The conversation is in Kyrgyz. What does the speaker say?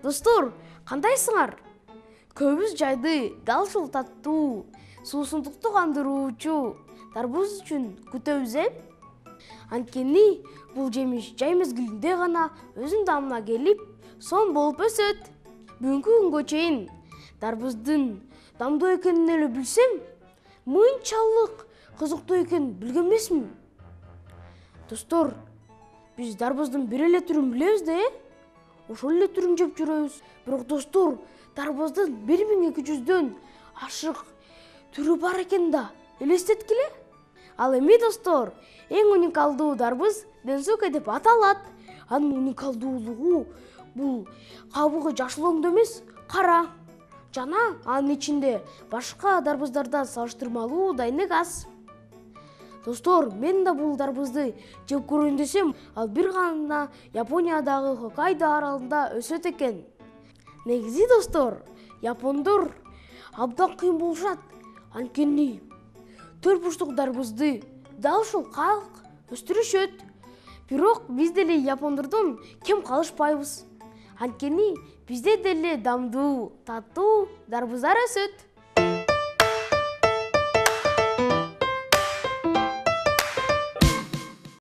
Достор, кандайсыңар? Көбүз жайды дал ушул таттуу, суусундукту кандыруучу дарбуз үчүн күтөбүз Анткени бул жемиш жай мезгилинде гана өзүнүн дамына келип, сонун болуп өсөт. Бүгүнкү күнгө чейин дарбуздун дамдуу экенин эле билсем, мынчалык кызыктуу экенин билген эмесмин. Достор, биз дарбуздун бир эле түрүн билебиз да, ошол эле түрүн жеп жүрөбүз. Бирок достор, дарбуздун 1200дөн ашык түрү бар экен да, элестеткиле. Ал эми достор, эң уникалдуу дарбуз денсока деп аталат. Анын уникалдуулугу бул кабыгы жашыл өңдө эмес, кара. Жана анын ичинде башка дарбуздардан салыштырмалуу дайнек аз. Достор, мен да бул дарбузду жеп көрөйүн десем, ал бир гана Япониядагы Хоккайдо аралында өсөт экен. Негизи достор, япондор абдан кыйын болушат. Анткени төрт бурчтук дарбузду дал ушул калк өстүрүшөт. Бирок биз деле япондордон кем калышпайбыз. Анткени бизде деле дамдуу, таттуу дарбуздар өсөт.